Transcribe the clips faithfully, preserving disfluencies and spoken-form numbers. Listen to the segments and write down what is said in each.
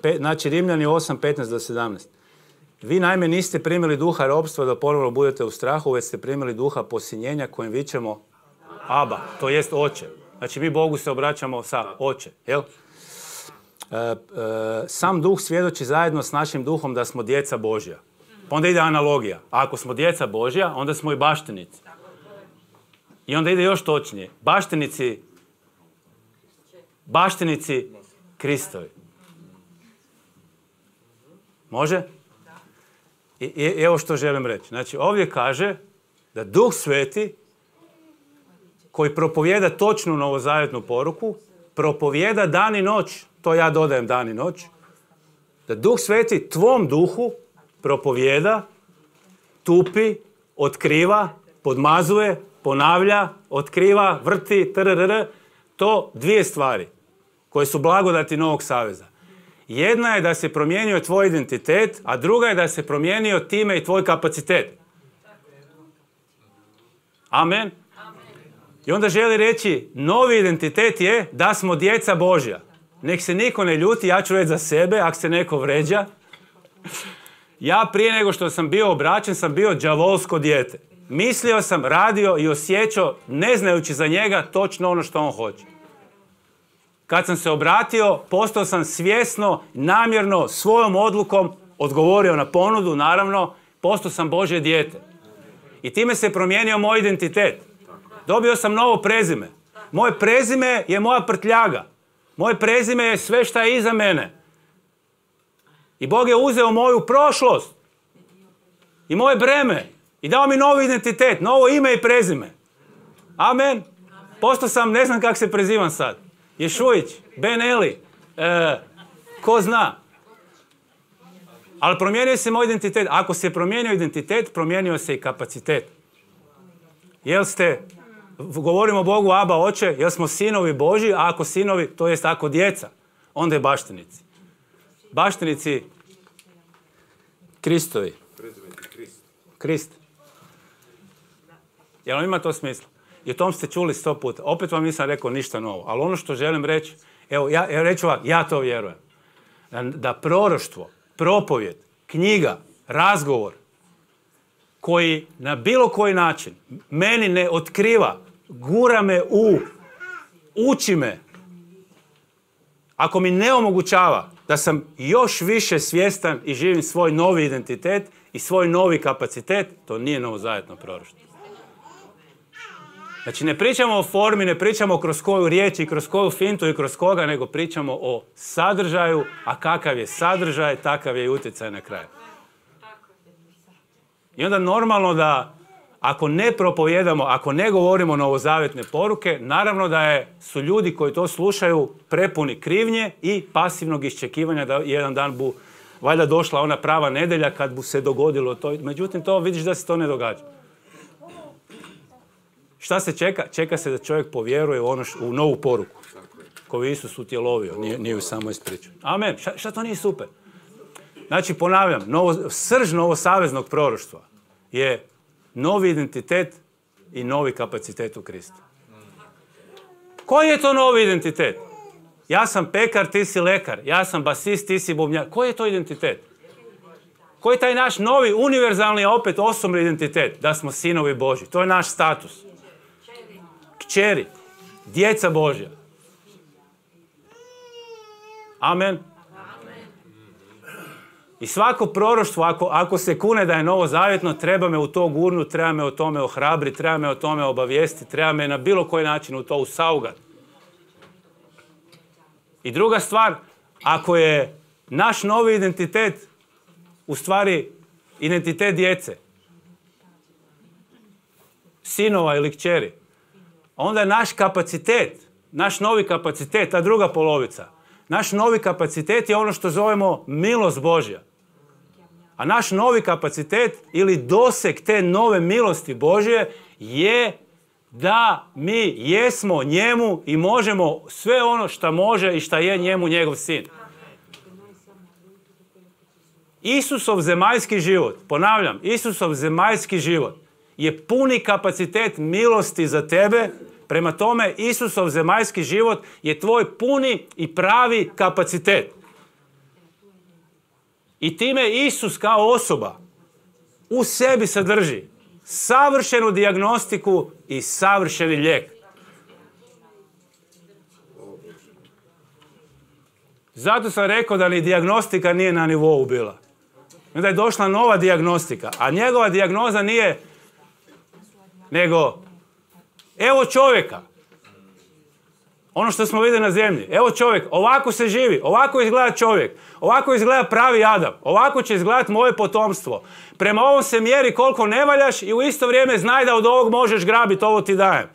Pe, znači Rimljani osam, petnaest do sedamnaest. Vi naime niste primili duha ropstva da ponovno budete u strahu, već ste primili duha posinjenja kojim vičemo Aba, to jest oče. Znači mi Bogu se obraćamo sa oče, jel? E, e, sam duh svjedoči zajedno s našim duhom da smo djeca Božja. Pa onda ide analogija. A ako smo djeca Božja, onda smo i baštinici. I onda ide još točnije. Baštinici, baštinici Kristovi. Može? I, i evo što želim reći. Znači ovdje kaže da Duh Sveti koji propovijeda točnu novozavjetnu poruku, propovijeda dan i noć, to ja dodajem dan i noć, da Duh Sveti tvom duhu propovijeda, tupi, otkriva, podmazuje, ponavlja, otkriva, vrti, trrr, to dvije stvari koje su blagodati Novog Saveza. Jedna je da se promijenio tvoj identitet, a druga je da se promijenio time i tvoj kapacitet. Amen. I onda želi reći, novi identitet je da smo djeca Božja. Nek se niko ne ljuti, ja ću reći za sebe, ako se neko vređa. Ja prije nego što sam bio obraćen, sam bio đavolsko dijete. Mislio sam, radio i osjećao, ne znajući za njega, točno ono što on hoće. Kad sam se obratio, postao sam svjesno, namjerno, svojom odlukom odgovorio na ponudu, naravno, postao sam Božje dijete. I time se promijenio moj identitet. Dobio sam novo prezime. Moje prezime je moja prtljaga. Moje prezime je sve šta je iza mene. I Bog je uzeo moju prošlost i moje breme i dao mi novi identitet, novo ime i prezime. Amen. Postao sam, ne znam kako se prezivam sad. Ješujić, Ben Eli, e, ko zna. Ali promijenio se moj identitet. Ako se promijenio identitet, promijenio se i kapacitet. Jel ste, govorimo Bogu Aba, oče, jel smo sinovi Božji, a ako sinovi, to jest ako djeca, onda je baštinici. Baštinici Kristovi. Krist. Jel vam ima to smisla? I o tom ste čuli sto puta. Opet vam nisam rekao ništa novo. Ali ono što želim reći, evo, ja, ja reću vam, ja to vjerujem. Da, da proroštvo, propovjed, knjiga, razgovor, koji na bilo koji način meni ne otkriva, gura me u, uči me, ako mi ne omogućava da sam još više svjestan i živim svoj novi identitet i svoj novi kapacitet, to nije novozavetno proroštvo. Znači ne pričamo o formi, ne pričamo kroz koju riječ i kroz koju fintu i kroz koga, nego pričamo o sadržaju, a kakav je sadržaj, takav je i utjecaj na kraju. I onda normalno da ako ne propovijedamo, ako ne govorimo novozavetne poruke, naravno da je, su ljudi koji to slušaju prepuni krivnje i pasivnog iščekivanja da jedan dan bu valjda došla ona prava nedjelja kad bu se dogodilo to. Međutim, to vidiš da se to ne događa. Šta se čeka? Čeka se da čovjek povjeruje u, ono š, u novu poruku koju Isus utjelovio, nije, nije ju samo ispričao. Amen. Šta, šta to nije super? Znači, ponavljam, novo, srž novosaveznog proroštva je novi identitet i novi kapacitet u Kristu. Koji je to novi identitet? Ja sam pekar, ti si lekar. Ja sam basist, ti si bubnjar. Koji je to identitet? Koji je taj naš novi, univerzalni, a opet osobni identitet? Da smo sinovi Božji. To je naš status. Kćeri. Djeca Božja. Amen. I svako proroštvo, ako, ako se kune da je novozavjetno, treba me u to gurnuti, treba me o tome ohrabriti, treba me o tome obavijestiti, treba me na bilo koji način u to usaugati. I druga stvar, ako je naš novi identitet u stvari identitet djece, sinova ili kćeri, onda je naš kapacitet, naš novi kapacitet, ta druga polovica, naš novi kapacitet je ono što zovemo milost Božja. A naš novi kapacitet ili doseg te nove milosti Božje je da mi jesmo njemu i možemo sve ono što može i što je njemu njegov sin. Isusov zemaljski život, ponavljam, Isusov zemaljski život je puni kapacitet milosti za tebe. Prema tome, Isusov zemaljski život je tvoj puni i pravi kapacitet. I time Isus kao osoba u sebi sadrži savršenu dijagnostiku i savršeni lijek. Zato sam rekao da ni dijagnostika nije na nivou bila. Onda je došla nova dijagnostika, a njegova dijagnoza nije nego evo čovjeka. Ono što smo vidjeli na zemlji. Evo čovjek, ovako se živi, ovako izgleda čovjek, ovako izgleda pravi Adam, ovako će izgledati moje potomstvo. Prema ovom se mjeri koliko ne valjaš i u isto vrijeme znaj da od ovog možeš grabiti, ovo ti dajem.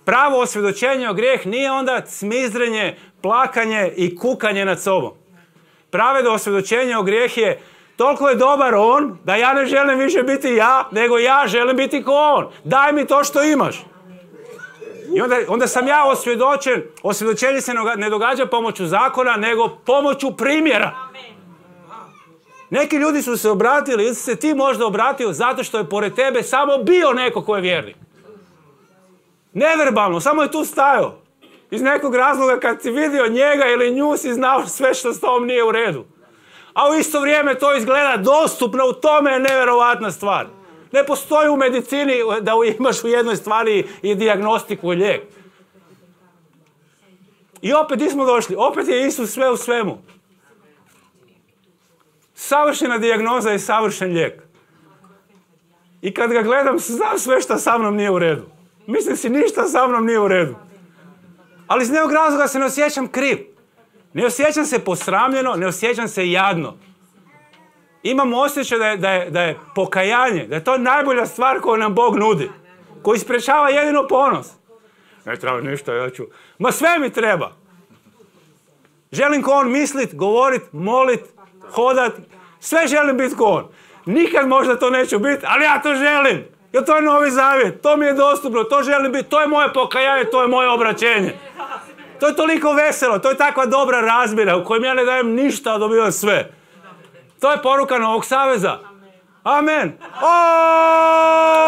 Pravo osvjedočenje o grijeh nije onda cmizdrenje, plakanje i kukanje nad sobom. Pravedno osvjedočenje o grijeh je toliko je dobar on da ja ne želim više biti ja, nego ja želim biti ko on. Daj mi to što imaš. I onda, onda sam ja osvjedočen. Osvjedočenje se ne događa pomoću zakona, nego pomoću primjera. Neki ljudi su se obratili, ili si se ti možda obratio zato što je pored tebe samo bio neko ko je vjernik. Neverbalno, samo je tu stajao. Iz nekog razloga kad si vidio njega ili nju si znao sve što s tom nije u redu. A u isto vrijeme to izgleda dostupno, u tome je nevjerovatna stvar. Ne postoji u medicini da imaš u jednoj stvari i dijagnostiku i lijek. I opet nismo došli, opet je Isus sve u svemu. Savršena dijagnoza i savršen lijek. I kad ga gledam, znam sve što sa mnom nije u redu. Mislim si, ništa sa mnom nije u redu. Ali iz nekog razloga se ne osjećam kriv. Ne osjećam se posramljeno, ne osjećam se jadno. Imam osjećaj da je, da je, da je pokajanje, da je to najbolja stvar koju nam Bog nudi. Koji sprečava jedino ponos. Ne treba ništa, ja ću... Ma sve mi treba. Želim ko on mislit, govorit, molit, hodat. Sve želim biti ko on. Nikad možda to neću biti, ali ja to želim. Jer to je Novi Zavjet, to mi je dostupno, to želim biti, to je moje pokajanje, to je moje obraćenje. To je toliko veselo, to je takva dobra razmjena u kojem ja ne dajem ništa, a dobivam sve. To je poruka Novog Saveza. Amen. O!